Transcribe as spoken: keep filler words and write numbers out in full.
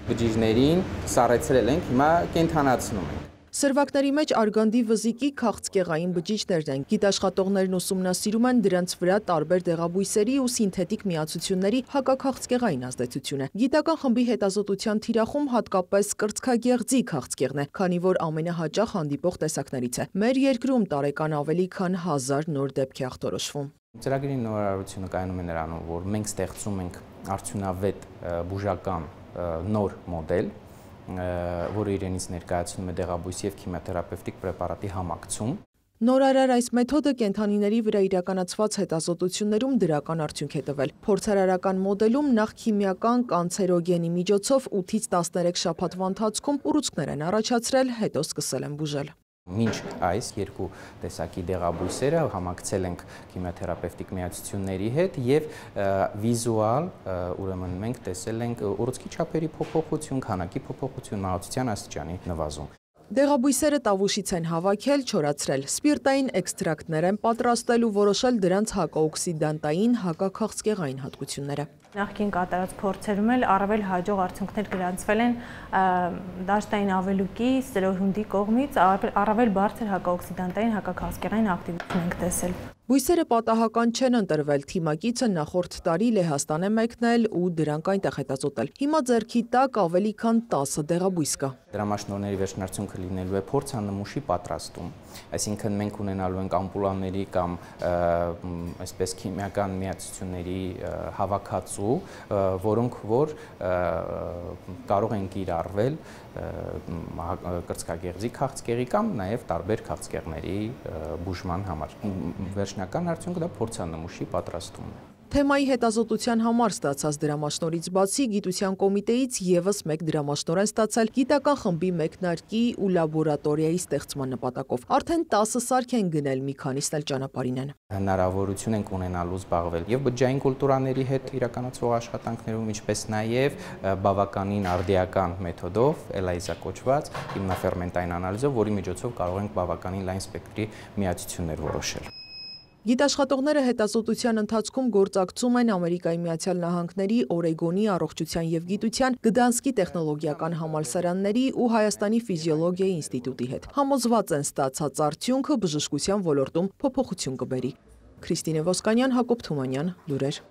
Բջիջներին սառեցրել ենք, հիմա կենդանացնում ենք։ Սրվակների մեջ արգանդի վզիկի քաղցկեղային բջիջներն են։ Գիտաշխատողներն ուսումնասիրում են դրանց վրա տարբեր դեղաբույսերի ու սինթետիկ միացությունների հակաքաղցկեղային ազդեցությունը։ Գիտական խմբի հետազոտության թիրախում հատկապես կրծքագեղձի քաղցկեղն է, քանի որ ամենահաճախ հանդիպող տեսակներից է։ Մեր երկրում տարեկան ավելի քան հազար նոր դեպք է ախտորոշվում։ Ծրագրի նորարարությունը կայանում է նրանում, որ մենք ստեղծում ենք արդյունավետ բուժական նոր մոդել, որը իրենից ներկայացնում է դեղաբույսի և քիմիոթերապևտիկ պրեպարատի համակցում։ Նորարար այս մեթոդը կենդանիների վրա իրականացված հետազոտություններում դրական արդյունք է տվել։ Փորձարարական մոդելում նախ քիմիական կանցերոգենի միջոցով ութից տասներեք շաբաթվա ընթացքում ուռուցքներ են առաջացրել, հետո սկսել են բուժել։ Մինչ այս երկու տեսակի դեղաբույսերը համակցել ենք քիմիոթերապևտիկ միացությունների հետ և վիզուալ, ուրեմն մենք տեսել ենք ուռուցքի չափերի փոփոխություն, քանակի փոփոխություն, մահացության աստիճանի նվազում։ Դեղաբույսերը տավուշից են հավաքել, չորացրել, սպիրտային էքստրակտներ են պատրաստել ու որոշել դրանց հակաօքսիդանտային, հակաքաղցկեղային հատկությունները։ Նախկին կատարած փորձերում էլ առավել հաջող արդյունքներ գրանցվել են դաշտային ավելուկի սերոհունդի կողմից, առավել բարձր հակաօքսիդանտային, հակաքաղցկեղային ակտիվություն ենք տեսել։ Բույսերը պատահական չեն ընտրվել, թիմակիցը նախորդ տարի Լեհաստան է մեկնել ու դրանք այնտեղ հետազոտել։ Հիմա ձեռքի տակ ավելի քան տասը դեղաբույս կա։ Դրամաշնորհների վերջնարդյունքը լինելու է փորձանմուշի պատրաստում, այսինքն մենք ունենալու ենք ամպուլաների կամ այսպես քիմիական միացությունների հավաքածու, որոնք որ կարող են կիրառվել կրծքագեղձի քաղցկեղի կամ նաև տարբեր քաղցկեղների բուժման համար։ Վերջնական արդյունքը դա փորձանմուշի պատրաստումն է։ Թեմայի հետազոտության համար ստացած դրամաշնորհից բացի գիտության կոմիտեից եւս մեկ դրամաշնորհ են ստացել գիտական խմբի մեկնարկի ու լաբորատորիայի ստեղծման նպատակով։ Արդեն տասը սարք են գնել, մի քանիսն էլ ճանապարհին են։ Հնարավորություն ենք ունենալու զբաղվել եւ բջջային կուլտուրաների հետ իրականացվող աշխատանքներում, ինչպես նաեւ բավականին արդիական մեթոդով, էլայզա կոչված հիմնաֆերմենտային անալիզով, որի միջոցով կարող ենք բավականին լայն սպեկտրի միացություններ որոշել։ Գիտաշխատողները հետազոտության ընթացքում գործակցում են Ամերիկայի Միացյալ Նահանգների Օրեգոնի առողջության և գիտության, Գդանսկի տեխնոլոգիական համալսարանների ու Հայաստանի ֆիզիոլոգիայի ինստիտուտի հետ։ Համոզված են ստացած արդյունքը բժշկության ոլորտում փոփոխություն կբերի։ Քրիստինե Ոսկանյան, Հակոբ Թումանյան, լուրեր։